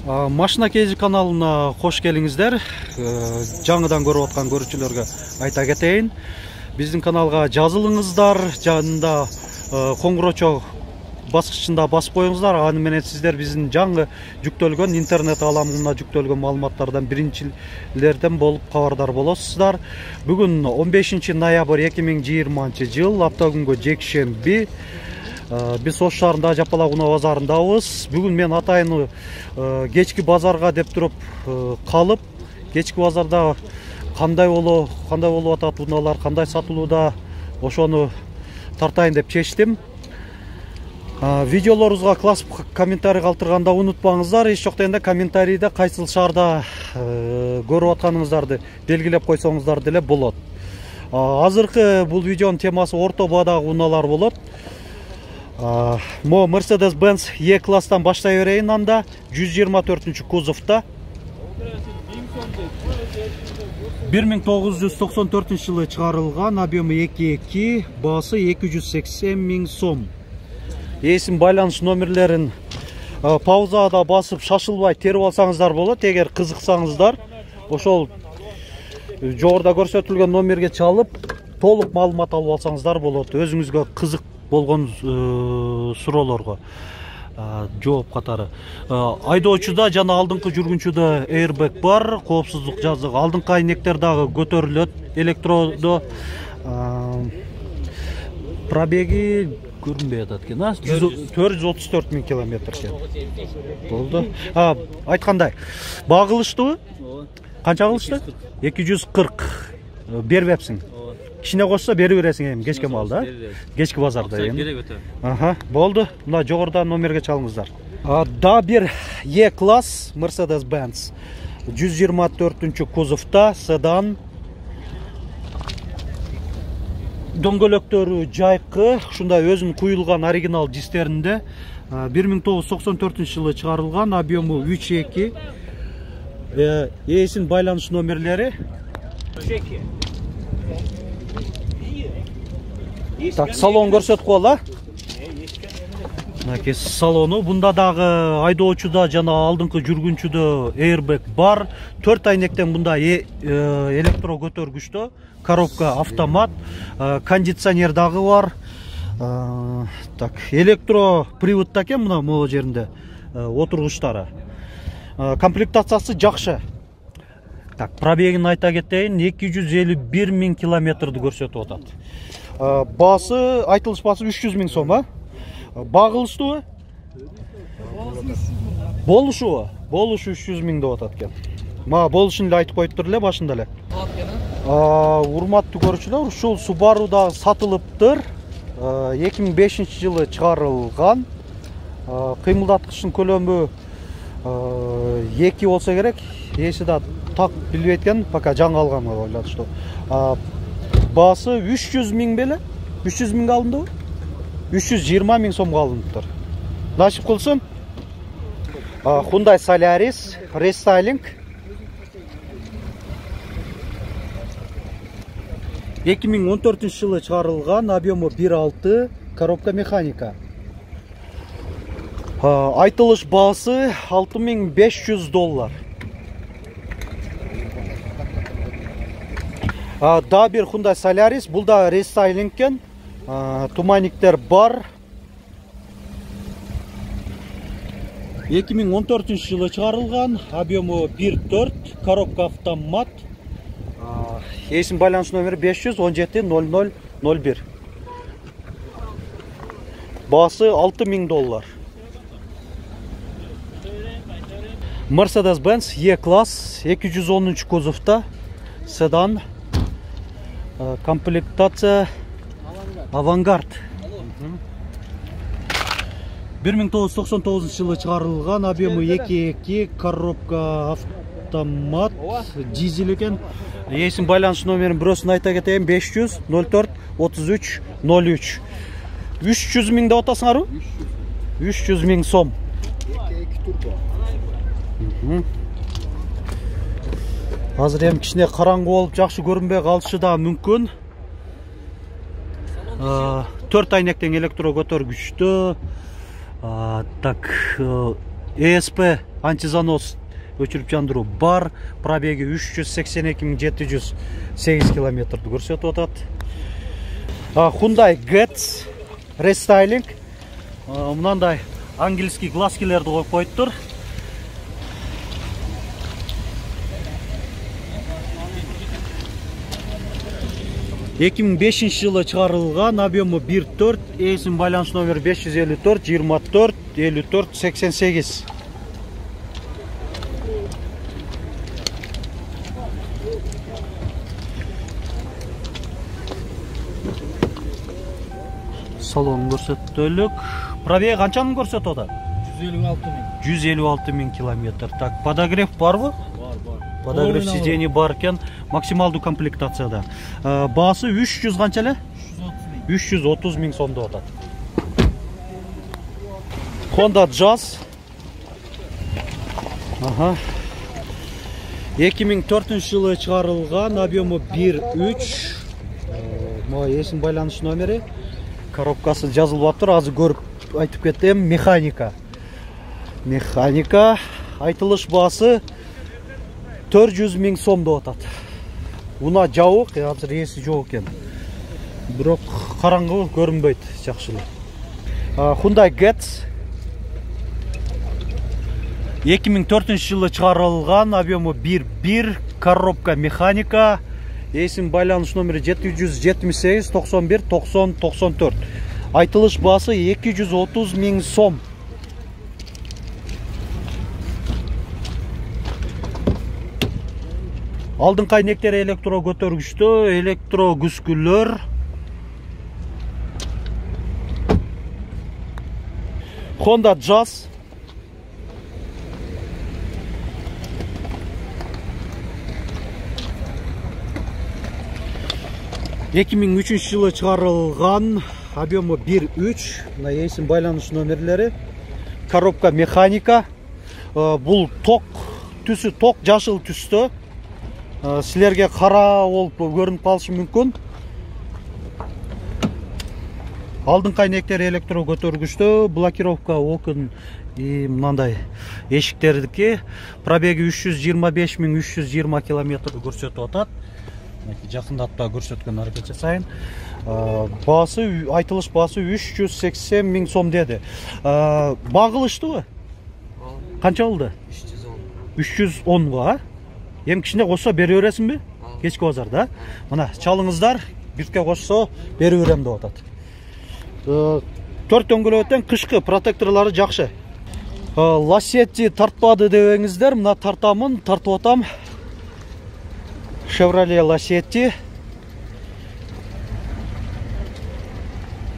Машина KG каналына кош келиңиздер. Жаңыдан көрүп аткан көрүүчүлөргө айта кетейин. Биздин каналга жазылыңыздар, жанында коңгурочо баскычында басып коюңуздар. Аны менен сиздер биздин жаңы жүктөлгөн интернет ааламына жүктөлгөн маалыматтардан биринчилерден болуп кабардар болосуздар. Бүгүн 15 ноябрь 2020 жыл, аптагүнгө жекшемби. Биз Ош шаарында Жапалагуна базарындабыз. Бүгүн мен атайын кечки базарга деп туруп калып, кечки базарда кандай болуп атат унаалар, кандай сатылууда, ошону тартайын деп чечтим. Видеолорубузга класс комментарий калтырганда унутпаңыздар. Эч жок дегенде комментарийде кайсыл шаарда көрүп атканыңыздарды белгилеп койсоңуздар деле болот. Азыркы бул видеонун темасы орто баадагы унаалар болот. Мо Mercedes-Benz E-класстан баштай берейин. Анда 124 кузовта 1994 жылы чыгарылган, объемы 2.2, баасы 280 000 сом. Эсим байланыш номерлерин паузада басып шашылбай терип алсаңыздар болот. Эгер кызыксаңыздар, ошол жогоруда көрсөтүлгөн номерге чалып толук маалымат алып алсаңыздар болот. Өзүңүзгө кызык болгон суроолорго жооп катары. Айдоочуда жана алдыңкы жүргүнчүдө airbag бар, коопсуздук жазыгы. Алдыңкы айнектер дагы көтөрүлөт. Электродо пробеги көрүнбөй атат экен. 434 000 километр экен. Болду. Айткандай, багылыштыбы? Канча кылышты? 240. Бербепсиң. Кичине кошсо бери бересиң эми кечке маалда, кечки базарда эми. Болду. Мына жогоруда номерге чалыңыздар. Да бир E-класс Mercedes-Benz 124 кузовта, седан. Дөңгөлөктөрү жайкы, ушундай өзүнүн куюлган оригинал дистеринде. 1994 жылы чыгарылган, объему 3.2. Эсин байланыш номерлери. Так, салон көрсөтүп коела. Мынакей салону. Бунда дагы айдоочуда жана алдыңкы жүргүнчүдө airbag бар. 4 айнектен бунда электро көтөргүчтө, коробка автомат, кондиционер дагы бар. Так, электро приводта экен мына могу жеринде отургучтары. Комплектациясы жакшы. Так, пробегин айта кетейин, 251 000 километрди көрсөтүп атат. Баасы, айтылыш баасы 300 000 сом, Багылыштыбы? Болушубу? Болушу 300 000 деп атат экен. Мага болушун эле айтып коюптур эле башында эле. Урматтуу көрүүчүлөр, ушул Subaru да сатылыптыр. 2005 жылы чыгарылган. Кыймылдаткычтын көлөмү 2 болсо керек. Эси да так билбейт экен, пока жаңы алган ойлоду что. Баасы 300 000 беле? 300 000 алындыбы? 320 000 сомго алыныптыр. Насип кылсын. Hyundai Solaris рестайлинг. 2014 жылы чыгарылган, объему 1.6, коробка механика. Айтылыш баасы $6500. Да бир Hyundai Solaris, бул да рестайлинг экен. Туманниктер бар. 2014 жылы чыгарылган, объему 1.4, коробка автомат. Эсин байланыш номери 517 0001. Баасы $6000. Mercedes-Benz E-класс 210 кузовта, седан. Комплектация Авангард. 1999 жылы чыгарылган, объему 2.2, коробка автомат, дизель экен. Эсин байланыш номерин бирөөсүн айта кетейин, 500 04 33 03. 300 000 деп атасыңарбы? 300 000 сом. 2.2 турбо. Азыр эми кичине караңгы болуп жакшы көрүнбөй калышы да мүмкүн. 4 айнектен электро көтөргүчтө. Так, ESP антизанос өчүрүп жандыруу бар. Пробеги 382.708 километрди көрсөтүп атат. Hyundai Getz рестайлинг. Мынандай английский глазкилерди коюп коюптур. Эки миң бешинчи жылы чыгарылган, объему 1.4, эсин байланыш номери 554 24 54 88. Салон көрсөтөлүк. Пробеги канчаны көрсөтүп атат? 156 000 километр. Так, подогрев барбы? Бар. Подогрев сидений бар экен. Максималдуу комплектацияда. Баасы 300 канча эле? 330 000 сом деп атат. Honda Jazz. 2004 жылы чыгарылган, объему 1.3. Могу эсин байланыш номери. Коробкасы жазылып атыр, азыр көрүп айтып кетем. Механика. Айтылыш баасы 400 000 сом деп атат. Уна жабык, азыр эси жок экен. Бирок караңгы көрүнбөйт, жакшы эле. Hyundai Getz 2004 жылы чыгарылган, объему 1.1, коробка механика. Эсин байланыш номери 778 91 90 94. Айтылыш баасы 230 000 сом. Алдыңкы айнектери электро көтөргүчтүү, электро күскүлөр. Honda Jazz. Эки миң үчүнчү жылы чыгарылган, объему 1.3, мына эсин байланыш номерлери. Коробка механика. Бул ток түсү, ток жашыл түстө. Силерге кара болуп көрүнүп калышы мүмкүн. Алдыңкы айнектери электро көтөргүчтүү, блокировка окон мындай эшиктердики. Пробеги 325 320 километрди көрсөтүп атат. Жакындатпа көрсөткөн аракет жасайын. Баасы, айтылыш баасы 380 000 сом деди. Багылыштыбы? Канча болду? 310 ба? Эми кичине кошсо бере бересиңби? Кечки базарда. Мына чалыңыздар, бирке кошсо бере берем деп атат. 4 дөңгөлөктөн кышкы протекторлору жакшы. Лассетти тартпады дебеңиздер, мына тартамын, тартып атам. Chevrolet Lacetti.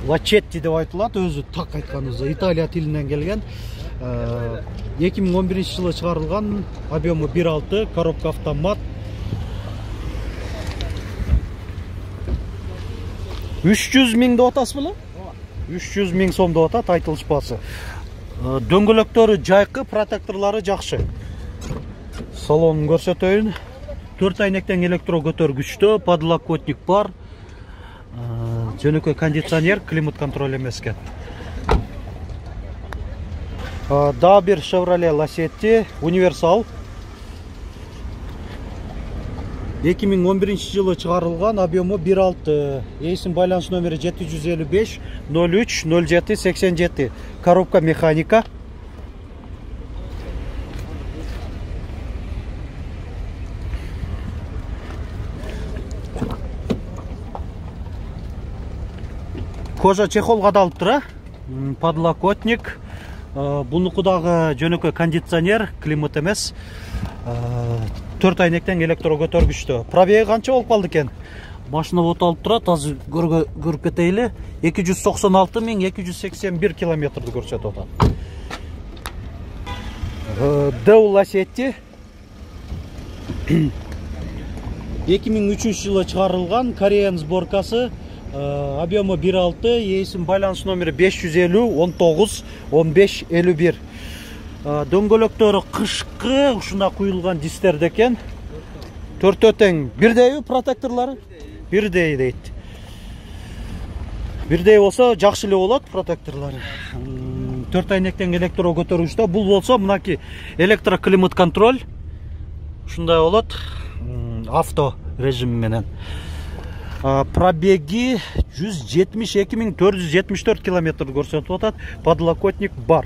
Lacetti деп айтылат, өзү так айтканыбызда Италия тилинен келген. 2011 жылы чыгарылган, объему 1.6, коробка автомат. 300 000 деп атасыз беле? 300 000 сом деп атат айтылыш баасы. Дөңгөлөктөрү жайкы, протекторлору жакшы. Салонун көрсөтөйүн. 4 айнектен электро көтөргүчтүү, подлокотник бар. Жөнөкөй кондиционер, климат контроль эмес экен. Дагы бир Chevrolet Lacetti, универсал. 2011 жылы чыгарылган, объему 1.6. Эсин байланыш номери 755 03 07 87. Коробка механика. Кожа чехол кадалыптыр, подлокотник. Бунуку дагы жөнөкөй кондиционер, климат эмес. 4 айнектен электро көтөргүчтүү. Пробеги канча болуп калды экен? Машина вот алып турат, азыр көрүп кетейли. 296 281 километрди көрсөтүп атат. Deo Lacetti 2003 жылы чыгарылган, Кореян сборкасы. Объему 1.6, эсин байланыш номери 550 19 15 51. Дөңгөлөктөрү кышкы, ушунда куюлган дистерде экен. Төртөө тең. Бирдейби протекторлору? Бирдей дейт. Бирдей болсо жакшы эле болот протекторлору. 4 айнектен электро көтөргүчтө. Бул болсо мынаки электроклимат контроль. Ушундай болот. Авто режим менен. Пробеги 172.474 километр көрсөтүп атат. Подлокотник бар.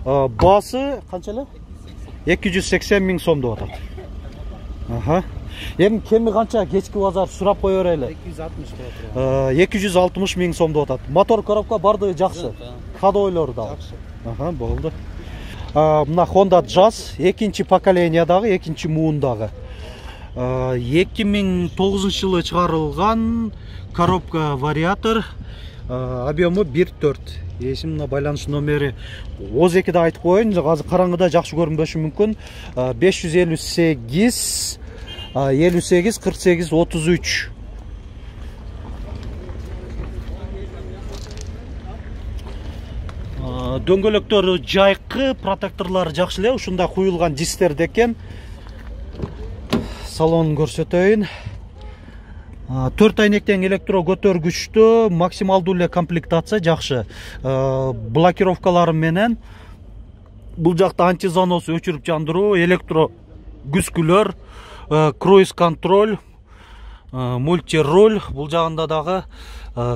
Басы канча эле? 280.000 сом деп атат. Эми кеми канча кечки базар сурап кое берели. 260.000 сом деп атат. Мотор коробка бардыгы жакшы. Ходойлор да. Жакшы. Болду. Мына Honda Jazz экинчи поколениядагы, экинчи муундагы. 2009 жылы чыгарылган коробка вариатор, объему 1.4. Эсимде байланыш номери 12-де айтып коеюн, азыр караңгыда жакшы көрүнбөшү мүмкүн. 558 58 48 33. Дөңгөлөктөрү жайкы, протекторлору жакшы эле, ушундай куюлган дисктер экен. Салонун көрсөтөйүн. 4 айнектен электро көтөргүчтө максималдуу эле комплектация жакшы. Блокировкалары менен бул жакта антизанос, өчүрүп жандыруу, электро күзгүлөр, круиз контроль, мультируль, бул жагында дагы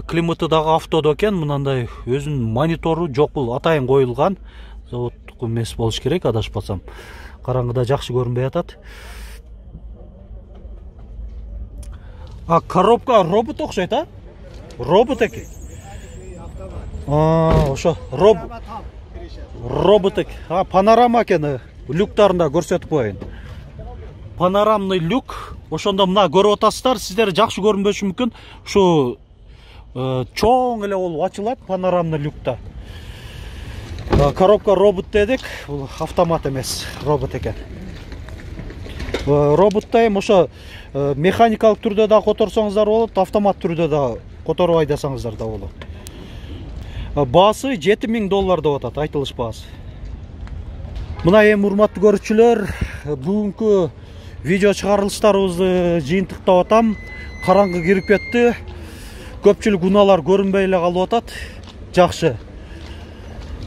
климаты дагы автодо экен. Мынандай өзүнүн монитору жок, бул атайын коюлган. Заводтук эмес болуш керек, адашпасам. Караңгыда жакшы көрүнбөй атат. Коробка робот окшойт, Робот экен. Ошо робот экен. Панорама экен, люктарында көрсөтүп коеюн. Панорамный люк. Ошондо мына көрүп атасыздар, сиздер жакшы көрүнбөшү мүмкүн. Ушу чоң эле болуп ачылат панорамный люкта. Коробка робот дедик, бул автомат эмес, робот экен. Роботто эми ошо механикалык түрдө да которсоңуздар болот, автомат түрдө да которбай десеңиздер да болот. Баасы $7.000 деп атат, айтылыш баасы. Мына эми урматтуу көрүүчүлөр, бүгүнкү видео чыгарылыштарыбызды жыйынтыктап атам. Караңгы кирип кетти. Көпчүлүк унаалар көрүнбөй эле калып атат. Жакшы.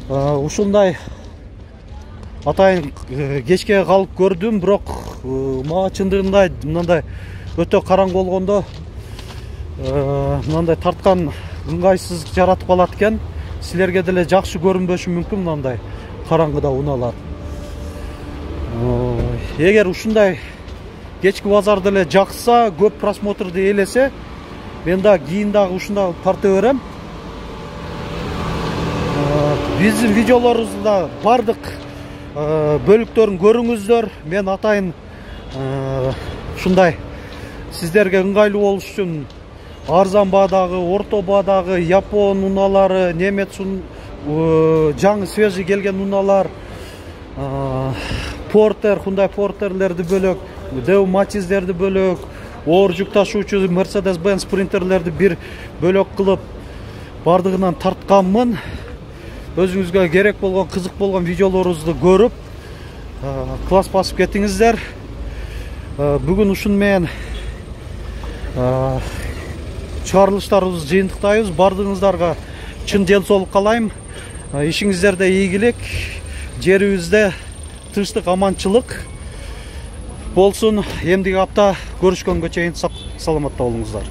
Ушундай атайын кечке калып көрдүм, бирок мага чындыгында мындай өтө караңгы болгондо мындай тарткан ыңгайсыздык жаратып калат экен. Силерге деле жакшы көрүнбөшү мүмкүн мындай караңгыда унаалар. Эгер ушундай кечки базарды эле жакса, көп просмотрду ээлесе, мен да кийин дагы ушундай тарта берем. Биздин видеолорубузда бардык бөлүктөрүн көрүңүздөр. Мен атайын ушундай сиздерге ыңгайлуу болуш үчүн арзан баадагы, орто баадагы япон унаалары, немец жаңы свежий келген унаалар, Портер, Hyundai Портерлерди бөлөк, Deo Matiz'лерди бөлөк, оор жүк ташуучу Mercedes-Benz Sprinter'лерди бир бөлөк кылып бардыгынан тартканмын. Өзүңүзгө керек болгон, кызык болгон видеолорубузду көрүп, класс басып кетиңиздер. Бүгүн ушун менен чыгарылыштарыбызды жыйынтыктайбыз. Бардыгыңыздарга чын ден соолук каалайм. Ишиңиздерде ийгилик, жерибизде тынчтык, аманчылык болсун. Эмдиги апта көрүшкөнгө чейин саламатта болуңуздар.